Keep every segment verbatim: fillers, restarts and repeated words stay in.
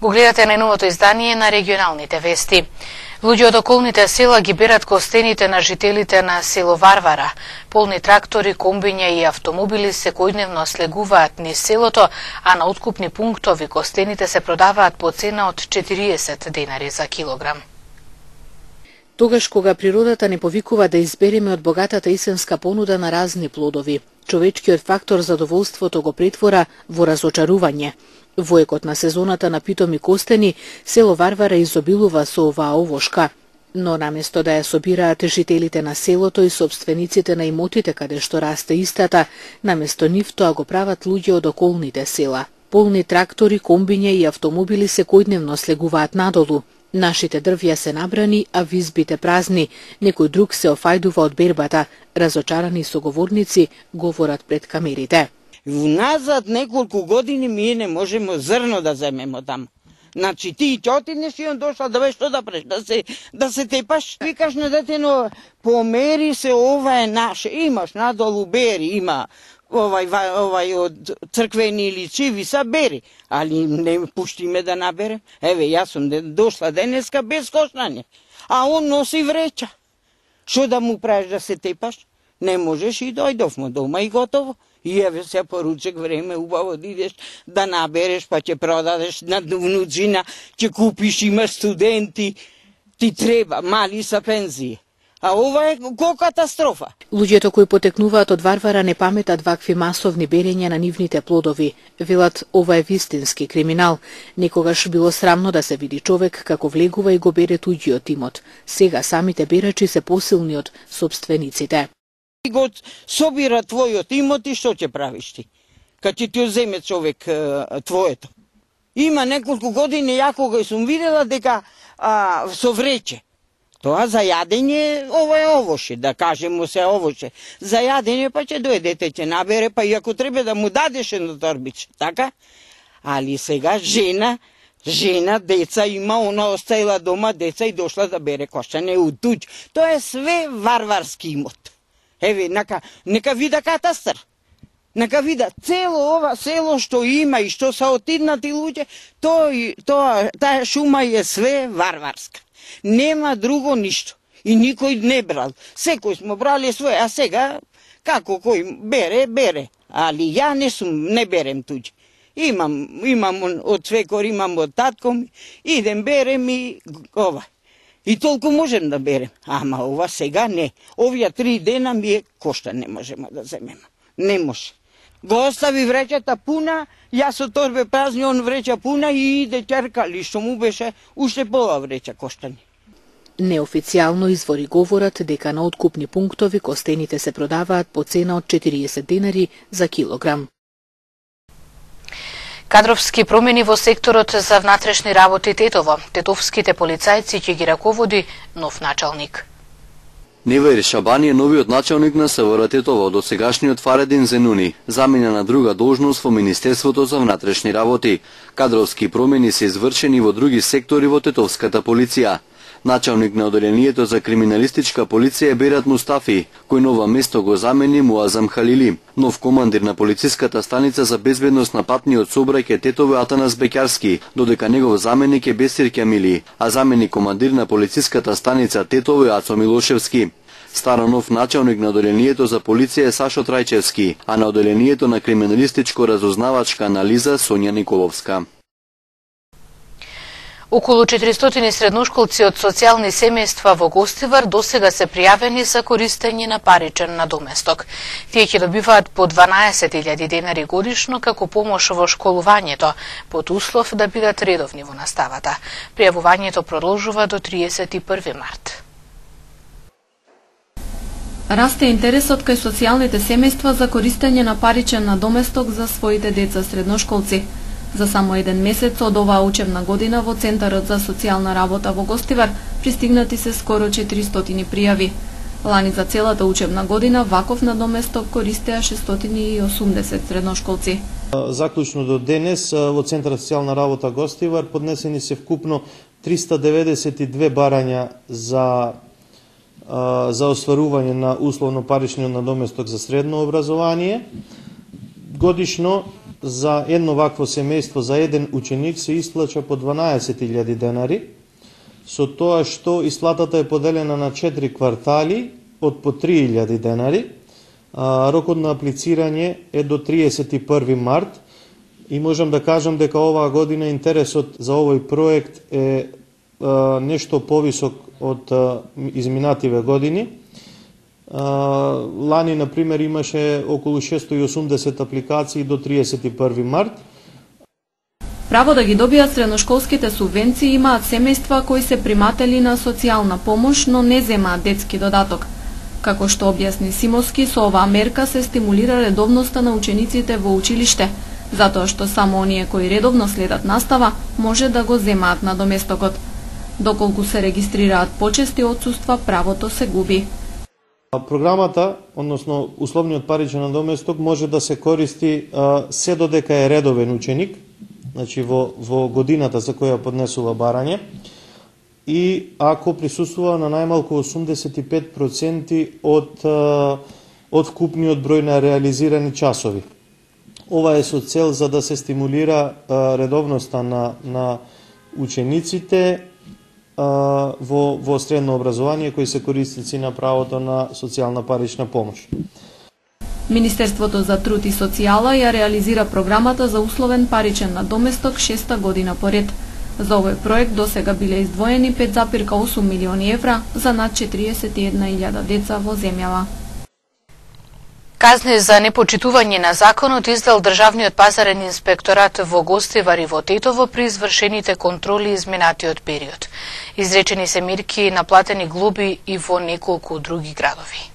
Го гледате најновото издание на регионалните вести. Луѓе од околните села ги берат костените на жителите на село Варвара. Полни трактори, комбиња и автомобили секојдневно слегуваат низ селото, а на откупни пунктови костените се продаваат по цена од четириесет денари за килограм. Тогаш кога природата не повикува да избереме од богатата исенска понуда на разни плодови, човечкиот фактор задоволството го претвора во разочарување. Во екот на сезоната на питоми костени, село Варвара изобилува со оваа овошка. Но наместо да ја собираат жителите на селото и собствениците на имотите каде што расте истата, наместо нив тоа го прават луѓе од околните села. Полни трактори, комбиња и автомобили секојдневно слегуваат надолу. Нашите дрвја се набрани, а визбите празни. Некој друг се офајдува од бербата. Разочарани соговорници говорат пред камерите. Уназад неколку години ние не можеме зрно да земеме таму. Значи ти ќе отидеш и он дошла да веш што да преш, да се да се тепаш. Викаш на детено, помери се, ова е наше. Имаш надолу бери, има овај овај од црквени или чиви са бери, али не пуштиме да наберем. Еве јас сум дошла денеска без кошнање, а он носи вреча. Што да му правиш да се тепаш? Не можеш и дојдовме дома и готово. И еве се поручек време убаво да идеш да набереш, па ќе продадеш на внуцина, ќе купиш, има студенти, ти треба, мали са пензии. А ова е ко катастрофа. Луѓето кои потекнуваат од Варвара не паметат вакви масовни берења на нивните плодови. Велат, ова е вистински криминал. Некогаш било срамно да се види човек како влегува и го бере туѓиот имот. Сега самите берачи се посилни од собствениците. Го собира твојот имот и што ќе правиш ти? Кад ќе ти земе човек твоето. Има неколку години ја кога сум видела дека а, со врече. Тоа за јадење, ова е овоше, да кажемо се овоше. За јадење па ќе дојдете, ќе набере, па и ако треба да му дадеш едно торбиче, така? Али сега жена, жена, деца има, она оставила дома деца и дошла да бере кошчање од туѓ. Тоа е све варварски имот. Еве, нека, нека вида катастар. Нека вида цело ова село што има и што са отиднати луѓе, тоа, тоа, таа шума е све варварска. Нема друго ништо. И никој не брал. Секој смо брали свој, а сега, како кој бере, бере. Али ја не сум, не берем туѓе. Имам, имам од свекор, имам од татко ми, идем, берем и ова. И толку можем да берем. Ама ова сега не. Овие три дена ми е кошта, не можеме да земеме. Не може. Го остави вречата пуна, јас со торбе празни, он вреча пуна и иде ќеркали, што му беше уште пола вреча коштани. Неофицијално извори говорат дека на откупни пунктови костените се продаваат по цена од четириесет денари за килограм. Кадровски промени во секторот за внатрешни работи Тетово. Тетовските полицајци ќе ги раководи нов началник. Неваир Шабани е новиот началник на СВР Тетово, до сегашниот Фаредин Зенуни, заменя на друга должност во Министерството за внатрешни работи. Кадровски промени се извршени во други сектори во Тетовската полиција. Началник на оделението за криминалистичка полиција е Берат Мустафи, кој нова место го замени Муазам Халили. Нов командир на полициската станица за безбедност на патниот сообраќај Тетово Атанас Беќарски, додека негов заменик е Бесир Ќамили, а заменик командир на полициската станица Тетово е Ацо Милошевски. Старо нов началник на оделението за полиција е Сашо Трајчевски, а на оделението на криминалистичко-разузнавачка анализа Сонја Николовска. Околу четиристотини средношколци од социјални семејства во Гостивар досега се пријавени за користење на паричен надоместок. Тие ќе добиваат по дванаесет илјади денари годишно како помош во школувањето, под услов да бидат редовни во наставата. Пријавувањето продолжува до триесет и први март. Расте интересот кај социјалните семејства за користење на паричен надоместок за своите деца средношколци. За само еден месец од оваа учебна година во Центарот за социјална работа во Гостивар пристигнати се скоро четиристотини пријави. Лани за целата учебна година ваков надоместок користеа шестстотини и осумдесет средношколци. Заклучно до денес во Центарот за социјална работа Гостивар поднесени се вкупно триста деветдесет и две барања за за остварување на условно паричниот надоместок за средно образование. Годишно за едно вакво семејство, за еден ученик се исплаќа по дванаесет илјади денари, со тоа што исплатата е поделена на четири квартали од по три илјади денари. Рокот на аплицирање е до триесет и први март и можам да кажам дека оваа година интересот за овој проект е нешто повисок од изминативе години. Лани, например, имаше околу шестоста и осумдесет апликации до триесет и први март. Право да ги добијат средношколските субвенции имаат семејства кои се приматели на социјална помош, но не земаат детски додаток. Како што објасни Симовски, со оваа мерка се стимулира редовноста на учениците во училиште, затоа што само оние кои редовно следат настава може да го земаат надоместокот. Доколку се регистрираат почести отсуства, правото се губи. Програмата, односно условниот паричен надоместок, може да се користи а, се додека е редовен ученик, значи во, во годината за која поднесува барање, и ако присуствува на најмалку осумдесет и пет проценти од, а, од вкупниот број на реализирани часови. Ова е со цел за да се стимулира а, редовноста на, на учениците во, во средно образование кои се корисници на правото на социјална парична помош. Министерството за труд и социјала ја реализира програмата за условен паричен надоместок шеста година поред. За овој проект досега биле издвоени пет зарез осум милиони евра за над четириесет и една илјада деца во земјава. Казни за непочитување на законот издал Државниот пазарен инспекторат во Гостивар и во Тетово при извршените контроли изминатиот период. Изречени се мерки, наплатени глоби и во неколку други градови.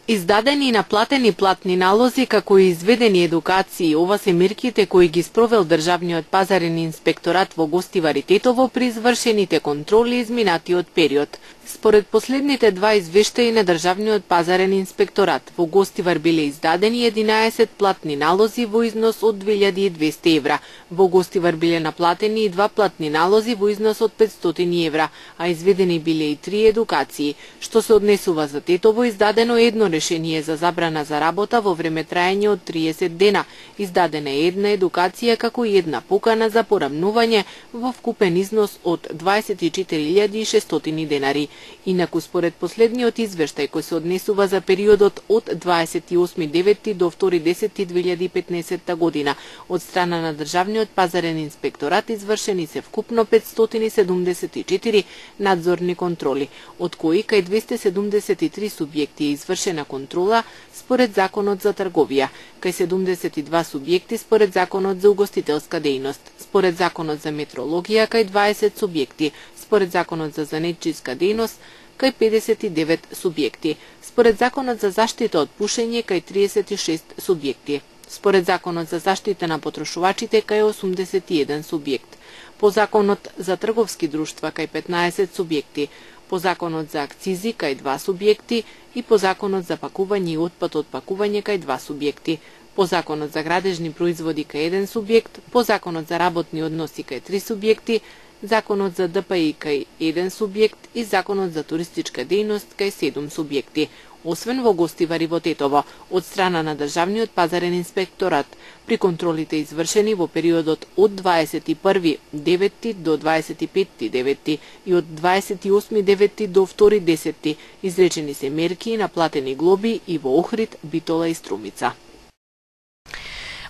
Издадени и наплатени платни налози, како и изведени едукации, ова се мерките кои ги спровел Државниот пазарен инспекторат во Гостивар и Тетово при извршените контроли изминатиот период. Според последните два извештаи на Државниот пазарен инспекторат, во Гостивар биле издадени единаесет платни налози во износ од две илјади и двесте евра. Во Гостивар биле наплатени и два платни налози во износ од петстотини евра, а изведени биле и три едукации. Што се однесува за Тетово, издадено едно решение за забрана за работа во време траење од триесет дена. Издадена е една едукација како и една покана за порамнување во вкупен износ од дваесет и четири илјади и шестстотини денари. Инаку, според последниот извештај кој се однесува за периодот од дваесет и осми девети до втори десети две илјади и петнаесетта година, од страна на Државниот пазарен инспекторат извршени се вкупно петстотини седумдесет и четири надзорни контроли, од кои кај двесте седумдесет и три субјекти е извршена контрола според Законот за трговија, кај седумдесет и два субјекти според Законот за угостителска дејност, според Законот за метрологија кај дваесет субјекти, според Законот за занетчиска дејност кај педесет и девет субјекти, според Законот за заштита од пушење кај триесет и шест субјекти, според Законот за заштита на потрошувачите кај осумдесет и еден субјект, по Законот за трговски друштва кај петнаесет субјекти, по Законот за акцизи кај два субјекти и по Законот за пакување и отпад од пакување кај два субјекти, по Законот за градежни производи кај еден субјект, по Законот за работни односи кај три субјекти, Законот за Д П И кај еден субјект и Законот за туристичка дејност кај седум субјекти, освен во Гостивар и во Тетово, од страна на Државниот пазарен инспекторат, при контролите извршени во периодот од дваесет и први девети до дваесет и пети девети и од дваесет и осми девети до втори десети, изречени се мерки и наплатени глоби и во Охрид, Битола и Струмица.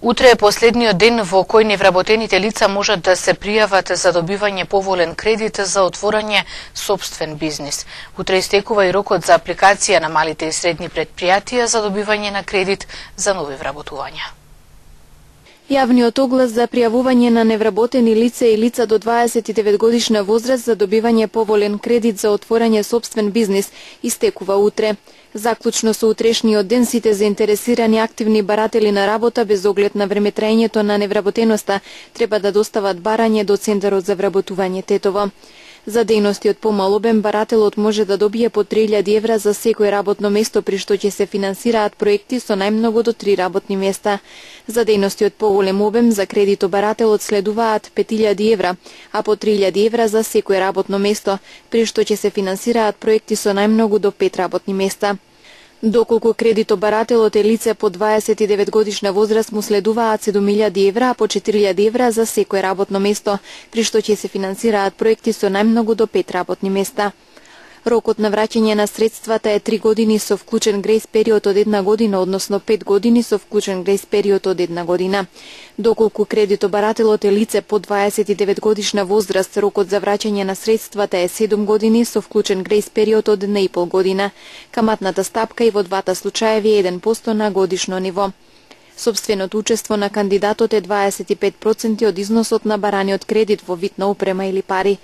Утре е последниот ден во кој невработените лица можат да се пријават за добивање поволен кредит за отворање сопствен бизнис. Утре истекува и рокот за апликација на малите и средни предпријатија за добивање на кредит за нови вработувања. Јавниот оглас за пријавување на невработени лица и лица до дваесет и девет годишна возраст за добивање поволен кредит за отворање сопствен бизнис истекува утре. Заклучно со утрешниот ден сите заинтересирани активни баратели на работа без оглед на времетраењето на невработеноста треба да достават барање до Центарот за вработување Тетово. За дејности од помал обем барателот може да добие по три илјади евра за секој работно место при што ќе се финансираат проекти со најмногу до три работни места. За дејности од поголем обем за кредитобарателот следуваат пет илјади евра, а по три илјади евра за секој работно место, при што ќе се финансираат проекти со најмногу до пет работни места. Доколку кредитобарателот е лице по дваесет и девет годишна возраст, му следуваат седум илјади евра, а по четири илјади евра за секое работно место, при што ќе се финансираат проекти со најмногу до пет работни места. Рокот на враќање на средствата е три години со вклучен грејс период од една година, односно пет години со вклучен грејс период од една година. Доколку кредитобарателот е лице по дваесет и девет годишна возраст, рокот за враќање на средствата е седум години со вклучен грејс период од една и пол година. Каматната стапка и во двата случаеви е еден процент на годишно ниво. Собственото учество на кандидатот е дваесет и пет проценти од износот на бараниот кредит во вид на опрема или пари.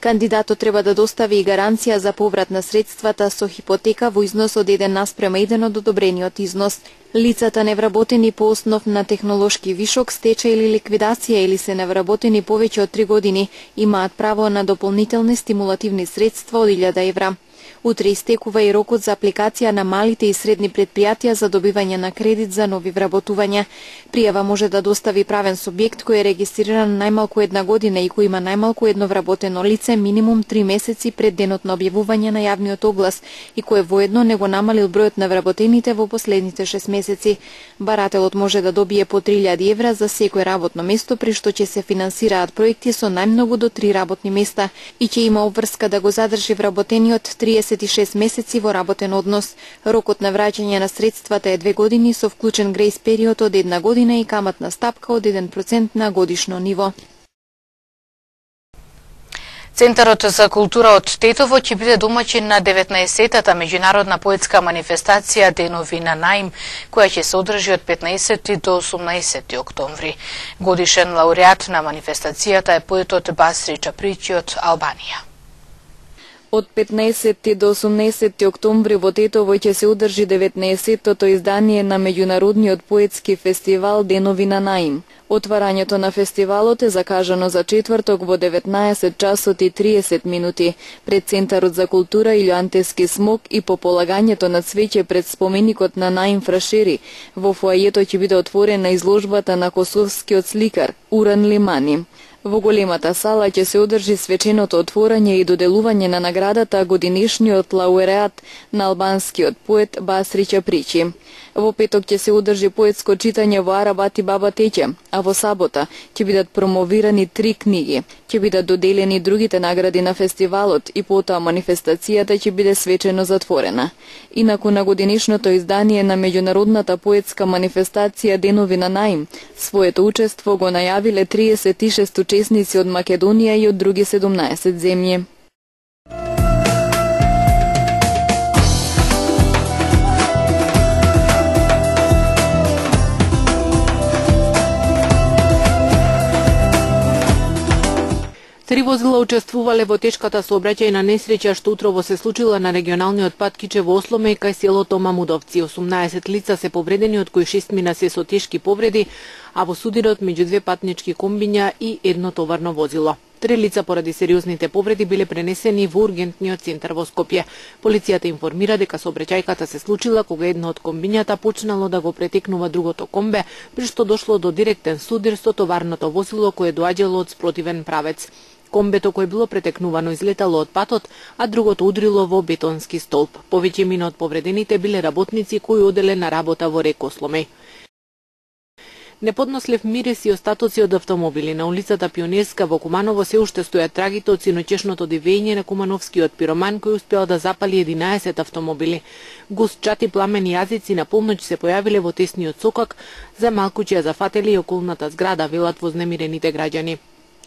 Кандидатот треба да достави и гаранција за поврат на средствата со хипотека во износ од еден наспрема еден од одобрениот износ. Лицата невработени по основ на технолошки вишок, стечај или ликвидација или се невработени повеќе од три години имаат право на дополнителни стимулативни средства од илјада евра. Утре истекува и рокот за апликација на малите и средни предпријатија за добивање на кредит за нови вработувања. Пријава може да достави правен субјект кој е регистриран најмалку една година и кој има најмалку едно вработено лице минимум три месеци пред денот на објавување на јавниот оглас и кој воедно не го намалил бројот на вработените во последните шест месеци. Барателот може да добие по три илјади евра за секој работно место, при што ќе се финансираат проекти со најмногу до три работни места и ќе има обврска да го задржи вработениот триесет и шест месеци во работен однос. Рокот на враќање на средствата е две години со вклучен грејс период од една година и каматна стапка од еден процент на годишно ниво. Центарот за култура од Тетово ќе биде домаќин на деветнаесеттата меѓународна поетска манифестација Денови на наим, која ќе се одржи од петнаесети до осумнаесети октомври. Годишен лауреат на манифестацијата е поетот Басри Чапричи од Албанија. Од петнаесети до осумнаесети октомври во Тетово ќе се одржи деветнаесеттото издание на меѓународниот поетски фестивал Денови на наим. Отварањето на фестивалот е закажано за четврток во деветнаесет часот и триесет минути пред Центарот за култура Илјоантески смок и по полагањето на цвеќе пред споменикот на Наим Фрашери. Во фоајето ќе биде отворена изложбата на косовскиот сликар Уран Лимани. Во големата сала ќе се одржи свеченото отворање и доделување на наградата годинишниот лауреат на албанскиот поет Басри Чапричи. Во петок ќе се одржи поетско читање во Арабат и Баба Теќе, а во сабота ќе бидат промовирани три книги. Ќе бидат доделени другите награди на фестивалот и потоа манифестацијата ќе биде свечено затворена. Инаку на годинишното издание на меѓународната поетска манифестација Денови на наим, своето учество го најавиле триесет и шест учесници од Македонија и од други седумнаесет земји. Три возила учествувале во тешката сообраќајна несреќа што утрово се случила на регионалниот пат Кичево Осломе кај селото Мамудовци. осумнаесет лица се повредени, од кои шестмина се со тешки повреди, а во судирот меѓу две патнички комбиња и едно товарно возило. Три лица поради сериозните повреди биле пренесени во ургентниот центар во Скопје. Полицијата информира дека сообраќајката се случила кога едно од комбињата почнало да го претекнува другото комбе, при што дошло до директен судир со товарното возило кое доаѓало од спротивен правец. Комбето кој било претекнувано излетало од патот, а другото удрило во бетонски столб. Повеќе мина од повредените биле работници кои оделе на работа во Рек Осломеј. Неподнослив мирис и остатоци од автомобили на улицата Пионерска во Куманово се уште стојат трагите од синочешното дивење на кумановскиот пироман кој успеал да запали единаесет автомобили. Густ чати пламени јазици на полноќ се појавиле во тесниот сокак, за малку ќе ја зафатели и околната зграда, велат вознемирените граѓани.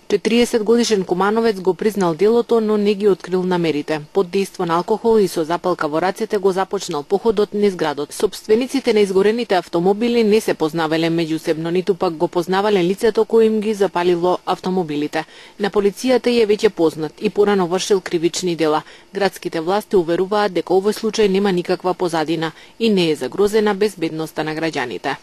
четириесет годишен кумановец го признал делото, но не ги открил намерите. Под дејство на алкохол и со запалка во рацете го започнал походот низ градот. Собствениците на изгорените автомобили не се познавале меѓусебно, ниту пак го познавале лицето кој им ги запалило автомобилите. На полицијата е веќе познат и порано вршил кривични дела. Градските власти уверуваат дека овој случај нема никаква позадина и не е загрозена безбедноста на граѓаните.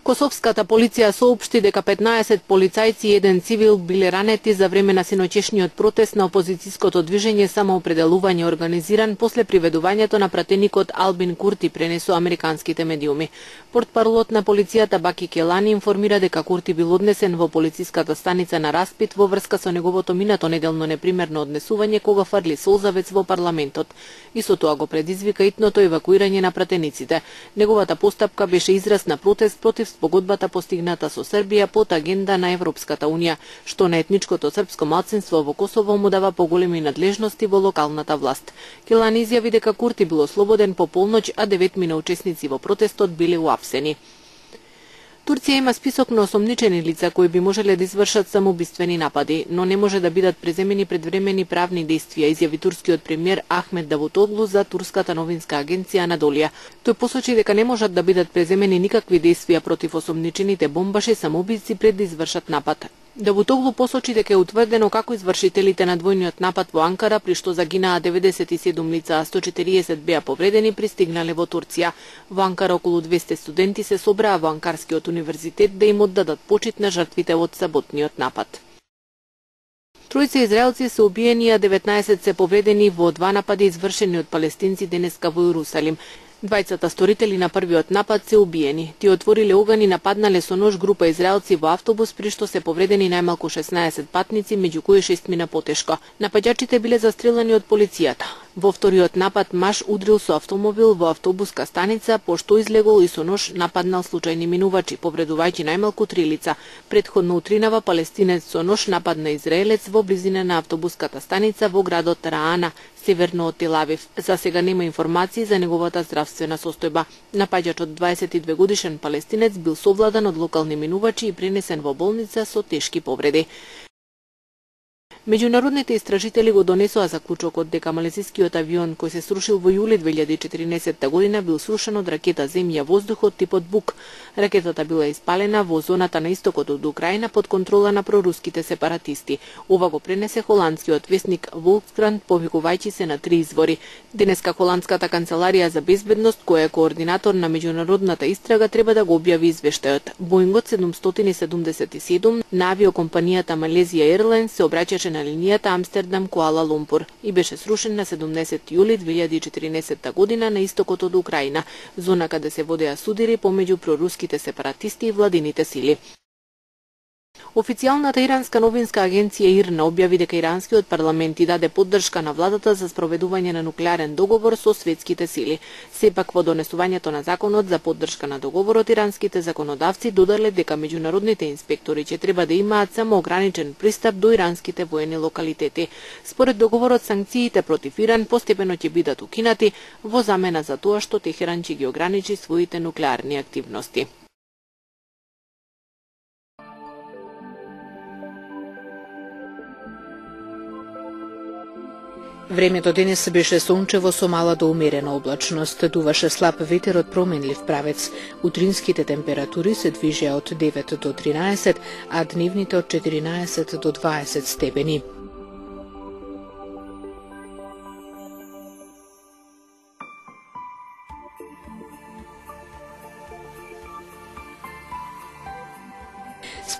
Косовската полиција соопшти дека петнаесет полицајци и еден цивил биле ранети за време на синочешниот протест на опозицијското движење Самоопределување организиран после приведувањето на пратеникот Албин Курти, пренесу американските медиуми. Портпаролот на полицијата Баки Келани информира дека Курти бил однесен во полициската станица на распит во врска со неговото минато неделно непримерно однесување кога фрли солзавец во парламентот. Исто тоа го предизвика итното евакуирање на пратениците. Неговата постапка беше израз на протест против спогодбата постигната со Србија под агенда на Европската унија, што на етничкото српско малцинство во Косово му дава поголеми надлежности во локалната власт. Келани изјави дека Курти бил ослободен по полноќ, а деветмина учесници во протестот биле уапсени. Турција има список на осомничени лица кои би можеле да извршат самоубиствени напади, но не може да бидат преземени предвремени правни действија, изјави турскиот премиер Ахмед Давутоглу за турската новинска агенција Анадолија. Тој посочи дека не можат да бидат преземени никакви действија против осомничените бомбаши самоубици пред да извршат напад. Давутоглу посочи дека е утврдено како извршителите на двојниот напад во Анкара, при што загинаа деветдесет и седум лица, а сто четириесет беа повредени, пристигнале во Турција. Во Анкара околу двесте студенти се собраа во Анкарскиот универзитет да им оддадат почит на жртвите од саботниот напад. Тројца израелци се убиени, а деветнаесет се повредени во два напади извршени од палестинци денеска во Јерусалим. Двајцата сторители на првиот напад се убиени. Тие отвориле оган и нападнале со нож група израелци во автобус, при што се повредени најмалку шеснаесет патници, меѓу кои шест мина потешко. Напаѓачите биле застрелани од полицијата. Во вториот напад маж удрил со автомобил во автобуска станица, пошто излегол и со нож нападнал случајни минувачи, повредувајќи најмалку три лица. Претходно утринава палестинец со нож нападна израелец во близина на автобуската станица во градот Раана, северно од Тел Авив. За сега нема информации за неговата здравствена состојба. Напаѓачот дваесет и две годишен палестинец бил совладан од локални минувачи и пренесен во болница со тешки повреди. Меѓународните истражители го донесоа заклучокот дека малезискиот авион кој се срушил во јули две илјади и четирнаесетта година бил срушен од ракета земја-воздухот типот Бук. Ракетата била испалена во зоната на истокот од Украина под контрола на проруските сепаратисти. Ова го пренесе холандскиот весник Волкскранд, повикувајќи се на три извори. Денеска холандската канцеларија за безбедност, која е координатор на меѓународната истрага, треба да го објави извештајот. Боингот седумстотини и седумдесет и седум на авиокомпанијата Malaysia Airlines се обраќаше на линијата Амстердам-Куала Лумпур и беше срушен на седумдесети јули две илјади и четирнаесетта година на истокот од Украина, зона каде се водеа судири помеѓу проруските сепаратисти и владините сили. Официјалната иранска новинска агенција ИРНА објави дека иранскиот парламент и даде поддршка на владата за спроведување на нуклеарен договор со светските сили. Сепак во донесувањето на законот за поддршка на договорот, иранските законодавци додале дека меѓународните инспектори ќе треба да имаат само ограничен пристап до иранските воени локалитети. Според договорот, санкциите против Иран постепено ќе бидат укинати во замена за тоа што Техеран ќе ги ограничи своите нуклеарни активности. Времето денес беше сончево со мала до умерена облачност, дуваше слаб ветер од променлив правец. Утринските температури се движеа од девет до тринаесет, а дневните од четиринаесет до дваесет степени.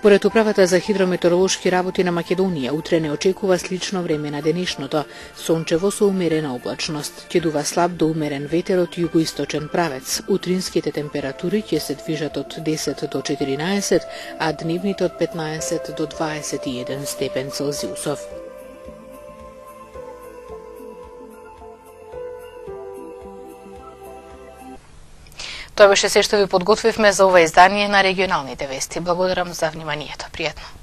Според Управата за хидрометеоролошки работи на Македонија, утре не очекува слично време на денешното, сончево со умерена облачност. Ќе дува слаб до умерен ветер од југоисточен правец. Утринските температури ќе се движат од десет до четиринаесет, а дневните од петнаесет до дваесет и еден степен Целзиусов. Тоа беше се што ви подготвивме за ова издание на регионалните вести. Благодарам за вниманието. Пријатно.